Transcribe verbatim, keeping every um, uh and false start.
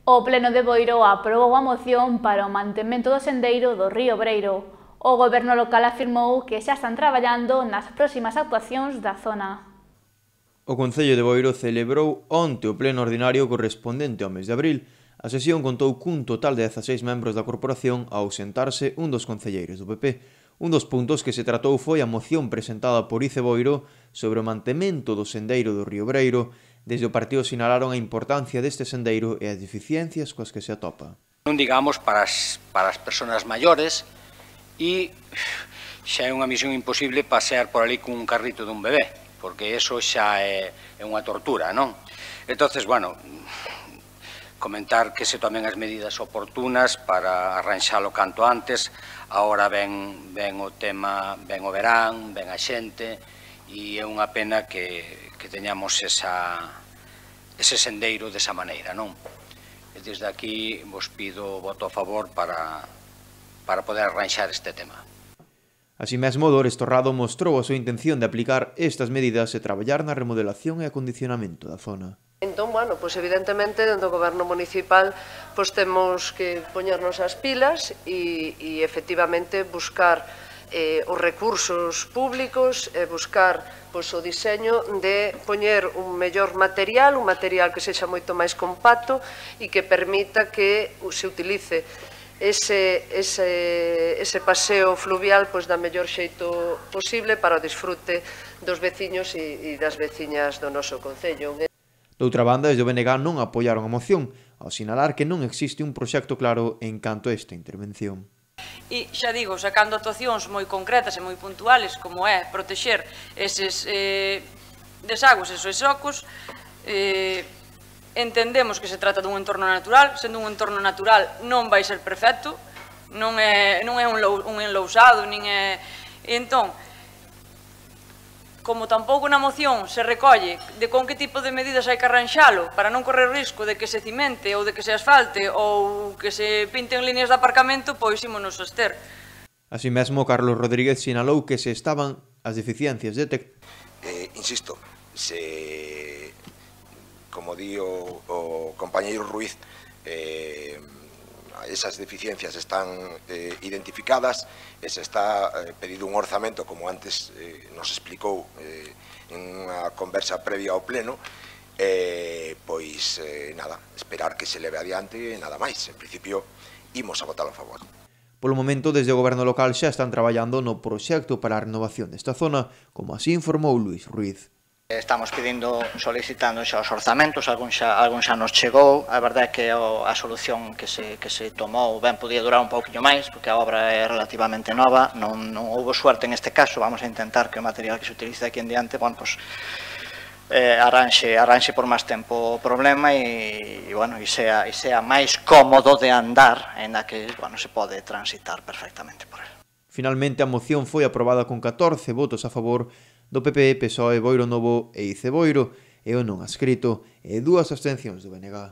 O Pleno de Boiro aprobou a moción para o mantemento do sendeiro do río Breiro. O goberno local afirmou que xa están traballando nas próximas actuacións da zona. O Concello de Boiro celebrou onte o pleno ordinario correspondente ao mes de abril. A sesión contou cun total de dezaseis membros da corporación ao sentarse un dos concelleiros do P P. Un dos puntos que se tratou foi a moción presentada por Ice Boiro sobre o mantemento do sendeiro do río Breiro. Desde o partido sinalaron a importancia deste sendeiro e as deficiencias coas que se atopa. Non digamos para as, para as persoas maiores e xa é unha misión imposible pasear por ali cun carrito dun bebé, porque eso xa é, é unha tortura, non? Entonces, bueno, comentar que se tomen as medidas oportunas para arranxalo canto antes. Agora ven, ven o tema, ven o verán, ven a xente, e é unha pena que, que teñamos esa, ese sendeiro desa maneira, non? E desde aquí vos pido voto a favor para, para poder arranxar este tema. Así mesmo, Dores Torrado mostrou a súa intención de aplicar estas medidas e traballar na remodelación e acondicionamento da zona. Entón, bueno, pois evidentemente, dentro do goberno municipal, pois temos que poñernos as pilas e, e efectivamente buscar eh, os recursos públicos e buscar pois, o diseño de poñer un mellor material, un material que sexa moito máis compacto e que permita que se utilice ese, ese, ese paseo fluvial pois, da mellor xeito posible para o disfrute dos veciños e, e das veciñas do noso concello. Doutra banda, desde o B N G non apoiaron a moción, ao sinalar que non existe un proxecto claro en canto a esta intervención. E xa digo, sacando actuacións moi concretas e moi puntuales, como é protexer eses eh, desagües, esos socos, eh, entendemos que se trata dun entorno natural, sendo un entorno natural non vai ser perfecto, non é, non é un, lou, un enlousado, nin é... E entón, como tampouco na moción se recolle de con que tipo de medidas hai que arranxalo para non correr risco de que se cimente ou de que se asfalte ou que se pinten líneas de aparcamento, pois ímonos soster. Así mesmo, Carlos Rodríguez sinalou que se estaban as deficiencias detectadas. Eh, insisto, se, como di o, o compañeiro Ruiz, eh, esas deficiencias están eh, identificadas e se está eh, pedido un orzamento, como antes eh, nos explicou eh, en unha conversa previa ao pleno, eh, pois eh, nada, esperar que se leve adiante e nada máis. En principio, imos a votar a favor. Polo momento, desde o goberno local xa están traballando no proxecto para a renovación desta zona, como así informou Luís Ruiz. Estamos pedindo, solicitando xa os orzamentos, algún xa, algún xa nos chegou. A verdade é que a solución que se, que se tomou ben podía durar un pouquinho máis, porque a obra é relativamente nova, non, non houve suerte en este caso. Vamos a intentar que o material que se utilice aquí en diante, bueno, pues, eh, arranxe, arranxe por máis tempo o problema e, e, bueno, e, sea, e sea máis cómodo de andar, en a que bueno, se pode transitar perfectamente por él. Finalmente, a moción foi aprobada con catorce votos a favor do P P, P S O E, Boiro Novo e Ice Boiro, e o non adscrito, e dúas abstencións do B N G.